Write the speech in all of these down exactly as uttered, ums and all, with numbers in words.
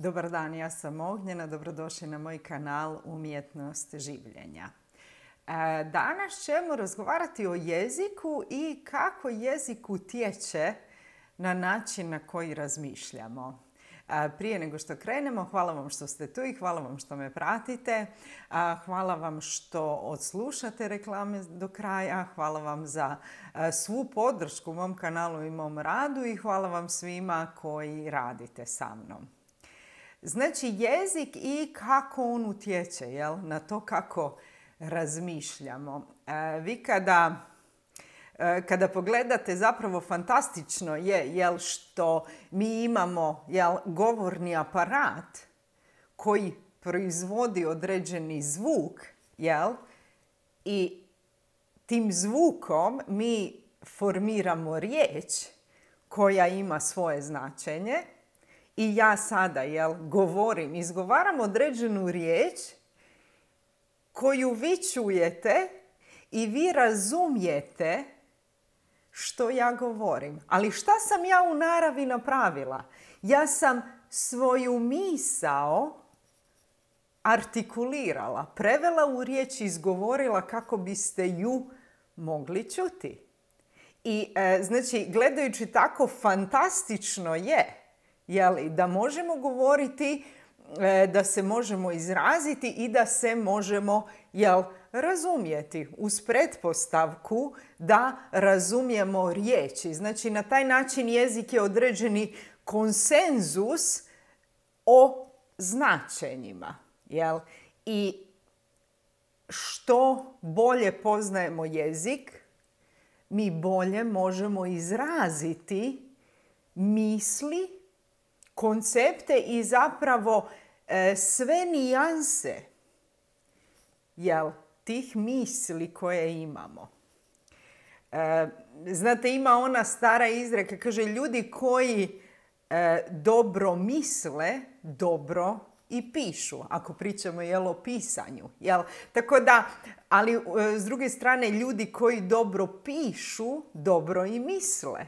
Dobar dan, ja sam Ognjena, dobrodošli na moj kanal Umjetnost življenja. Danas ćemo razgovarati o jeziku i kako jezik utječe na način na koji razmišljamo. Prije nego što krenemo, hvala vam što ste tu i hvala vam što me pratite. Hvala vam što odslušate reklame do kraja. Hvala vam za svu podršku mom kanalu i mom radu i hvala vam svima koji radite sa mnom. Znači, jezik i kako on utječe, jel, na to kako razmišljamo. E, vi kada, e, kada pogledate, zapravo fantastično je, jel, što mi imamo, jel, govorni aparat koji proizvodi određeni zvuk, jel, i tim zvukom mi formiramo riječ koja ima svoje značenje. I ja sada, jel, govorim, izgovaram određenu riječ koju vi čujete i vi razumijete što ja govorim. Ali šta sam ja u naravi napravila? Ja sam svoju misao artikulirala, prevela u riječ i izgovorila kako biste ju mogli čuti. I e, znači, gledajući tako, fantastično je, jeli, da možemo govoriti, da se možemo izraziti i da se možemo, jel, razumjeti uz pretpostavku da razumijemo riječi. Znači, na taj način jezik je određeni konsenzus o značenjima. Jel? I što bolje poznajemo jezik, mi bolje možemo izraziti misli, koncepte i zapravo e, sve nijanse, jel, tih misli koje imamo. E, znate, ima ona stara izreka, kaže, ljudi koji e, dobro misle, dobro i pišu, ako pričamo, jel, o pisanju. Jel? Tako da, ali e, s druge strane, ljudi koji dobro pišu, dobro i misle.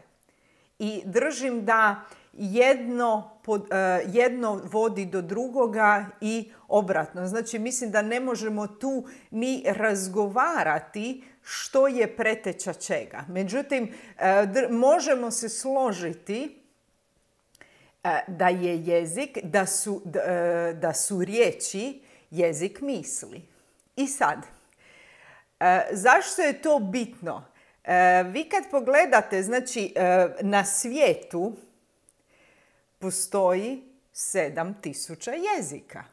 I držim da Jedno, pod, uh, jedno vodi do drugoga i obratno. Znači, mislim da ne možemo tu ni razgovarati što je preteča čega. Međutim, uh, dr- možemo se složiti uh, da je jezik, da su, uh, da su riječi jezik misli. I sad, uh, zašto je to bitno? Uh, vi kad pogledate, znači, uh, na svijetu postoji sedam tisuća jezika.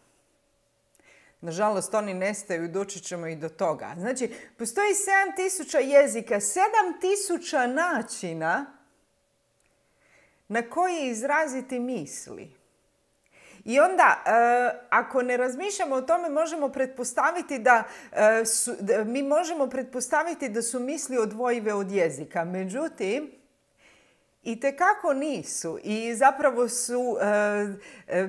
Nažalost, oni nestaju, doći ćemo i do toga. Znači, postoji sedam tisuća jezika, sedam tisuća načina na koji izraziti misli. I onda, e, ako ne razmišljamo o tome, možemo pretpostaviti da, e, su, da mi možemo pretpostaviti da su misli odvojive od jezika. Međutim, itekako nisu i zapravo su e, e,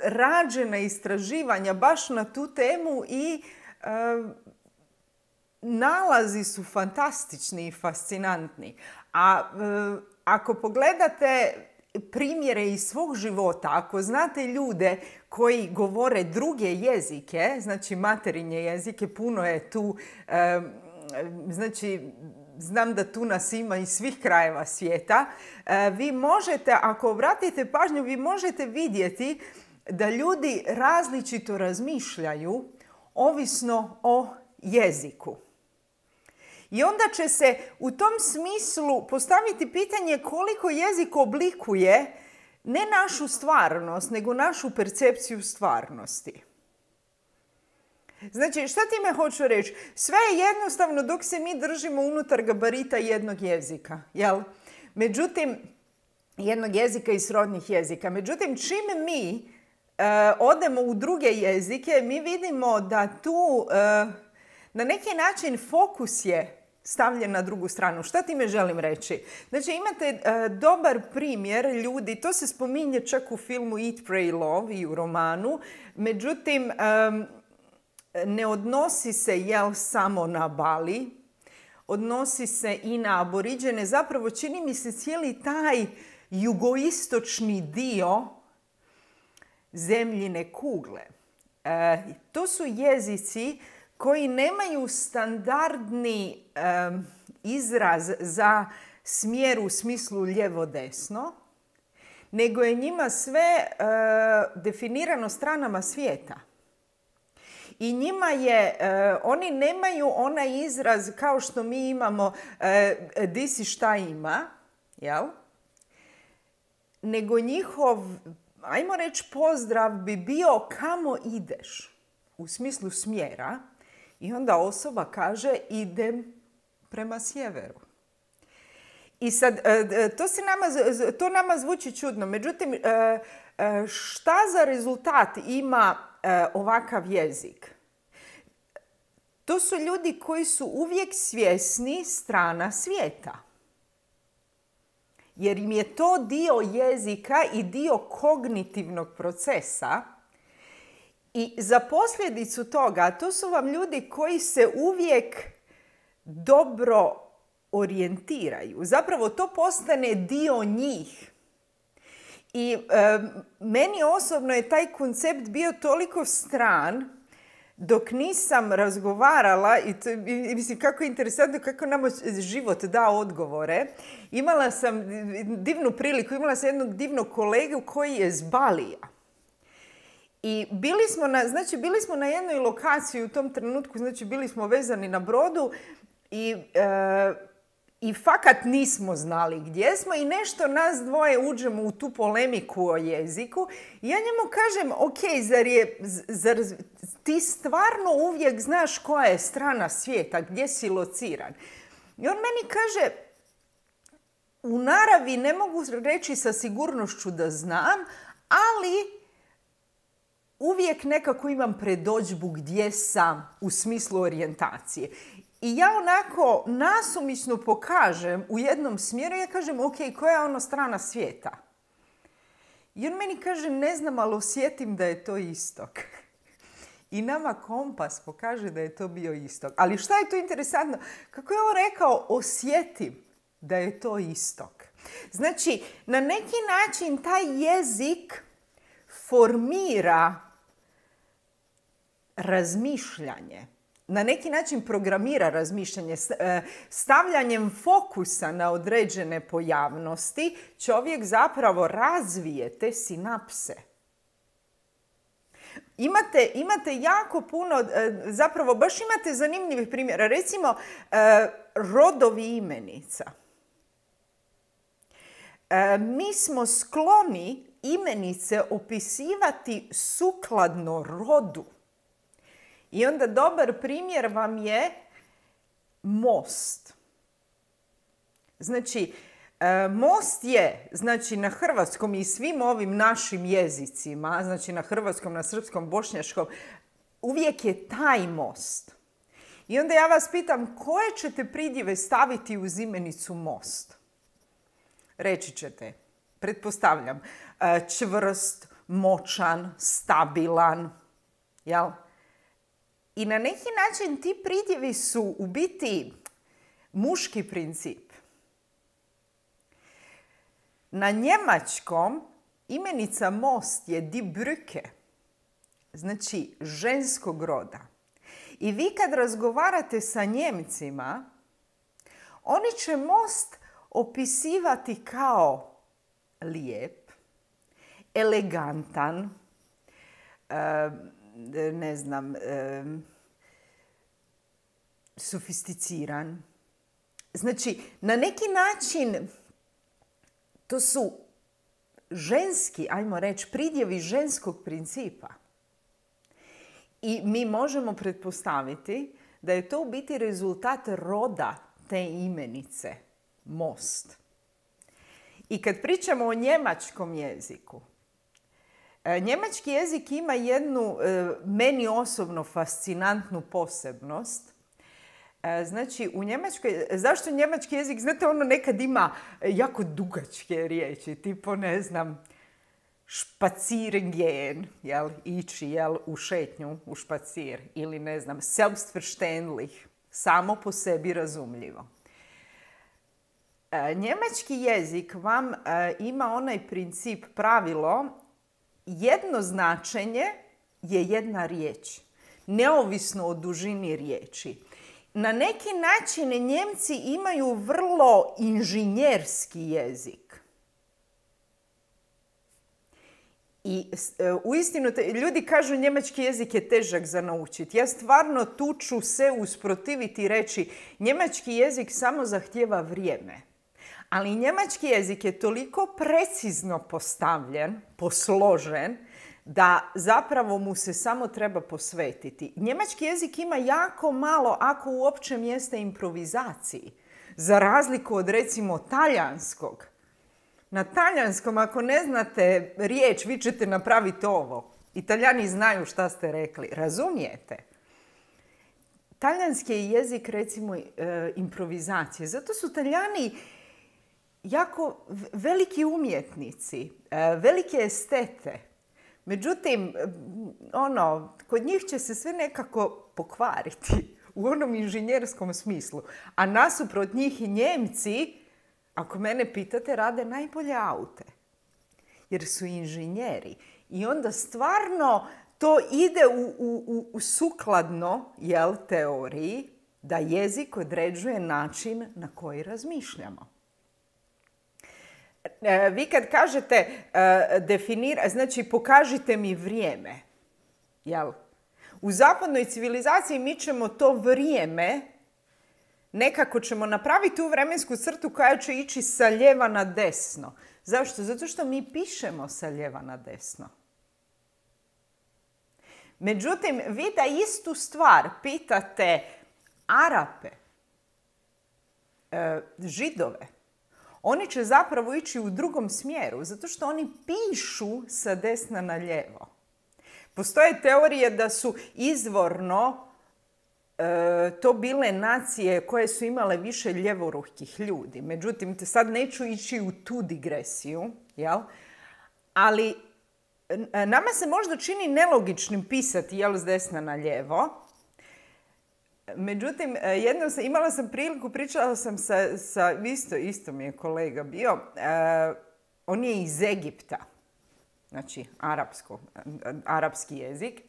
rađena istraživanja baš na tu temu i e, nalazi su fantastični i fascinantni. A e, ako pogledate primjere iz svog života, ako znate ljude koji govore druge jezike, znači materinje jezike, puno je tu, e, znači, znam da tu nas ima iz svih krajeva svijeta, vi možete, ako obratite pažnju, vi možete vidjeti da ljudi različito razmišljaju ovisno o jeziku. I onda će se u tom smislu postaviti pitanje koliko jezik oblikuje ne našu stvarnost, nego našu percepciju stvarnosti. Znači, šta time hoću reći? Sve je jednostavno dok se mi držimo unutar gabarita jednog jezika, jel? Međutim, jednog jezika i srodnih jezika. Međutim, čim mi e, odemo u druge jezike, mi vidimo da tu e, na neki način fokus je stavljen na drugu stranu. Šta time želim reći? Znači, imate e, dobar primjer ljudi, to se spominje čak u filmu Eat, Pray, Love i u romanu, međutim, e, ne odnosi se, jel, samo na Bali, odnosi se i na Aboriđene. Zapravo, čini mi se cijeli taj jugoistočni dio zemljine kugle. E, to su jezici koji nemaju standardni e, izraz za smjer u smislu lijevo-desno, nego je njima sve e, definirano stranama svijeta. I njima je, e, oni nemaju onaj izraz kao što mi imamo e, di si šta ima, jel? Nego njihov, ajmo reći, pozdrav bi bio kamo ideš, u smislu smjera. I onda osoba kaže idem prema sjeveru. I sad, to, se nama, to nama zvuči čudno. Međutim, šta za rezultat ima ovakav jezik? To su ljudi koji su uvijek svjesni strana svijeta. Jer im je to dio jezika i dio kognitivnog procesa. I za posljedicu toga, to su vam ljudi koji se uvijek dobro orijentiraju. Zapravo to postane dio njih. I e, meni osobno je taj koncept bio toliko stran dok nisam razgovarala, i, to, i mislim kako je interesantno kako nam život da odgovore. Imala sam divnu priliku, imala sam jednog divnog kolegu koji je z Balija. I bili smo na, znači, bili smo na jednoj lokaciji u tom trenutku, znači bili smo vezani na brodu i, e, i fakat nismo znali gdje smo i nešto nas dvoje uđemo u tu polemiku o jeziku. I ja njemu kažem, ok, zar, je, zar ti stvarno uvijek znaš koja je strana svijeta, gdje si lociran? I on meni kaže, u naravi ne mogu reći sa sigurnošću da znam, ali uvijek nekako imam predodžbu gdje sam u smislu orijentacije. I ja onako nasumično pokažem u jednom smjeru, ja kažem, ok, koja je ono strana svijeta? I on meni kaže, ne znam, ali osjetim da je to istok. I nama kompas pokaže da je to bio istok. Ali šta je to interesantno? Kako je on rekao, osjetim da je to istok. Znači, na neki način taj jezik formira razmišljanje. Na neki način programira razmišljanje. Stavljanjem fokusa na određene pojavnosti čovjek zapravo razvije te sinapse. Imate, imate jako puno, zapravo baš imate zanimljivih primjera. Recimo, rodovi imenica. Mi smo skloni imenice opisivati sukladno rodu. I onda dobar primjer vam je most. Znači, most je, znači na hrvatskom i svim ovim našim jezicima, znači na hrvatskom, na srpskom, bošnjačkom, uvijek je taj most. I onda ja vas pitam, koje ćete pridjeve staviti uz imenicu most? Reći ćete, pretpostavljam, čvrst, moćan, stabilan, jel? I na neki način ti pridjevi su u biti muški princip. Na njemačkom imenica most je die Brücke, znači ženskog roda. I vi kad razgovarate sa Njemcima, oni će most opisivati kao lijep, elegantan, ne znam, sofisticiran. Znači, na neki način to su ženski, ajmo reći, pridjevi ženskog principa. I mi možemo pretpostaviti da je to u biti rezultat roda te imenice, most. I kad pričamo o njemačkom jeziku, njemački jezik ima jednu meni osobno fascinantnu posebnost. Znači, u Njemačkoj, zašto njemački jezik, znate, ono nekad ima jako dugačke riječi, tipo, ne znam, spazieren, jel, ići, jel, u šetnju, u špacir, ili ne znam, selbstverständlich, samo po sebi razumljivo. Njemački jezik vam ima onaj princip, pravilo, jedno značenje je jedna riječ, neovisno o dužini riječi. Na neki način Njemci imaju vrlo inženjerski jezik. I uistinu, ljudi kažu njemački jezik je težak za naučiti. Ja stvarno tu ću se usprotiviti i reći njemački jezik samo zahtijeva vrijeme. Ali njemački jezik je toliko precizno postavljen, posložen, da zapravo mu se samo treba posvetiti. Njemački jezik ima jako malo, ako uopće, mjesta improvizaciji. Za razliku od, recimo, talijanskog. Na talijanskom, ako ne znate riječ, vi ćete napraviti ovo. Italijani znaju šta ste rekli. Razumijete? Talijanski je jezik, recimo, improvizacije. Zato su Talijani jako veliki umjetnici, velike estete. Međutim, ono, kod njih će se sve nekako pokvariti u onom inženjerskom smislu. A nasuprot njih i Njemci, ako mene pitate, rade najbolje aute. Jer su inženjeri. I onda stvarno to ide u, u, u sukladno, jel, teoriji da jezik određuje način na koji razmišljamo. Vi kad kažete uh, definira, znači pokažite mi vrijeme. Jel? U zapadnoj civilizaciji mi ćemo to vrijeme, nekako ćemo napraviti tu vremensku crtu koja će ići sa lijeva na desno. Zašto? Zato što mi pišemo sa lijeva na desno. Međutim, vi da istu stvar pitate Arape, uh, Židove, oni će zapravo ići u drugom smjeru, zato što oni pišu sa desna na lijevo. Postoje teorije da su izvorno e, to bile nacije koje su imale više ljevorukih ljudi. Međutim, sad neću ići u tu digresiju, jel? Ali nama se možda čini nelogičnim pisati, jel, s desna na lijevo. Međutim, jednom sam, imala sam priliku, pričala sam sa, sa isto, isto mi je kolega bio, uh, on je iz Egipta, znači arapsko, arapski jezik,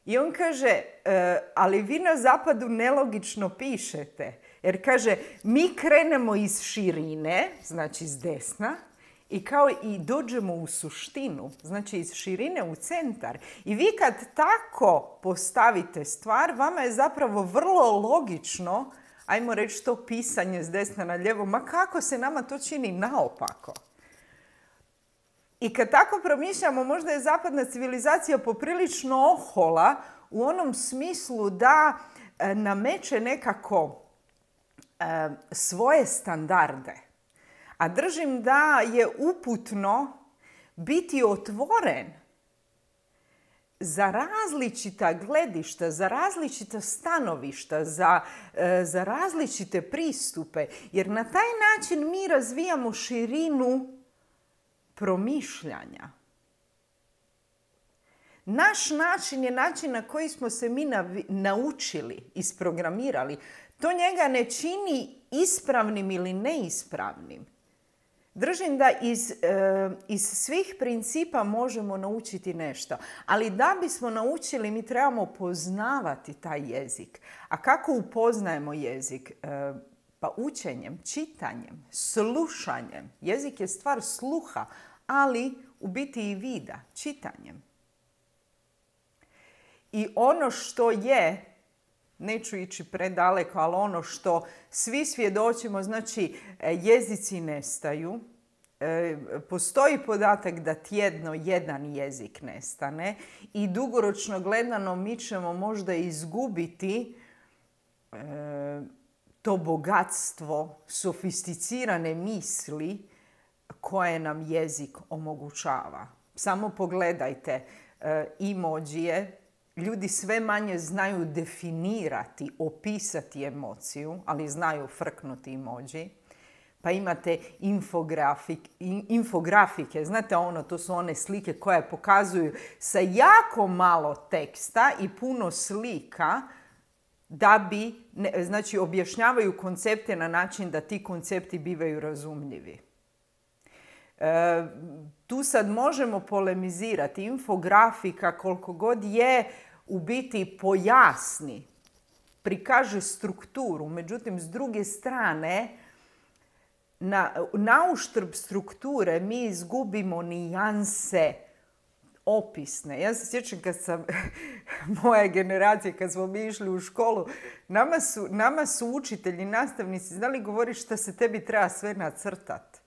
i on kaže, uh, ali vi na zapadu nelogično pišete, jer kaže, mi krenemo iz širine, znači iz desna, i kao i dođemo u suštinu, znači iz širine u centar. I vi kad tako postavite stvar, vama je zapravo vrlo logično, ajmo reći, to pisanje s desna na lijevo, ma kako se nama to čini naopako. I kad tako promišljamo, možda je zapadna civilizacija poprilično ohola u onom smislu da e, nameće nekako e, svoje standarde. A držim da je uputno biti otvoren za različita gledišta, za različita stanovišta, za, e, za različite pristupe. Jer na taj način mi razvijamo širinu promišljanja. Naš način je način na koji smo se mi navi- naučili, isprogramirali. To njega ne čini ispravnim ili neispravnim. Držim da iz, e, iz svih principa možemo naučiti nešto. Ali da bismo naučili, mi trebamo poznavati taj jezik. A kako upoznajemo jezik? E, pa učenjem, čitanjem, slušanjem. Jezik je stvar sluha, ali u biti i vida, čitanjem. I ono što je, neću ići predaleko, ali ono što svi svjedočimo, znači jezici nestaju. E, postoji podatak da tjedno jedan jezik nestane i dugoročno gledano mi ćemo možda izgubiti e, to bogatstvo sofisticirane misli koje nam jezik omogućava. Samo pogledajte e, emojije. Ljudi sve manje znaju definirati, opisati emociju, ali znaju frknuti emoji. Pa imate infografik, infografike, znate ono, to su one slike koje pokazuju sa jako malo teksta i puno slika da bi, ne, znači objašnjavaju koncepte na način da ti koncepti bivaju razumljivi. Tu sad možemo polemizirati. Infografika koliko god je u biti pojasni, prikaže strukturu. Međutim, s druge strane, na, na uštrb strukture mi izgubimo nijanse opisne. Ja se sjećam kad sam, moja generacija, kad smo mi išli u školu, nama su, nama su učitelji, nastavnici znali govoriti šta se tebi treba sve nacrtati.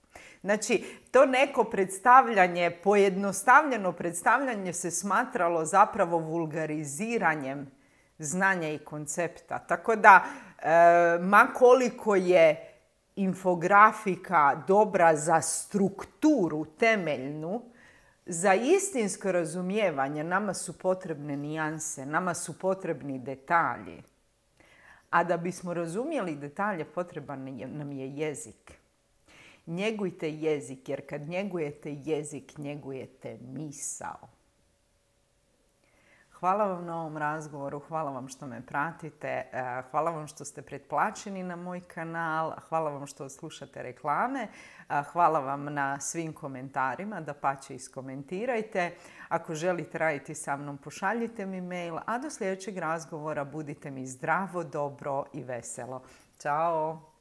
Znači, to neko predstavljanje, pojednostavljeno predstavljanje se smatralo zapravo vulgariziranjem znanja i koncepta. Tako da, e, ma koliko je infografika dobra za strukturu temeljnu, za istinsko razumijevanje nama su potrebne nijanse, nama su potrebni detalji. A da bismo razumjeli detalje, potreban nam je jezik. Njegujte jezik, jer kad njegujete jezik, njegujete misao. Hvala vam na ovom razgovoru, hvala vam što me pratite, hvala vam što ste pretplaćeni na moj kanal, hvala vam što slušate reklame, hvala vam na svim komentarima, dapače iskomentirajte. Ako želite raditi sa mnom, pošaljite mi mail, a do sljedećeg razgovora budite mi zdravo, dobro i veselo. Ćao!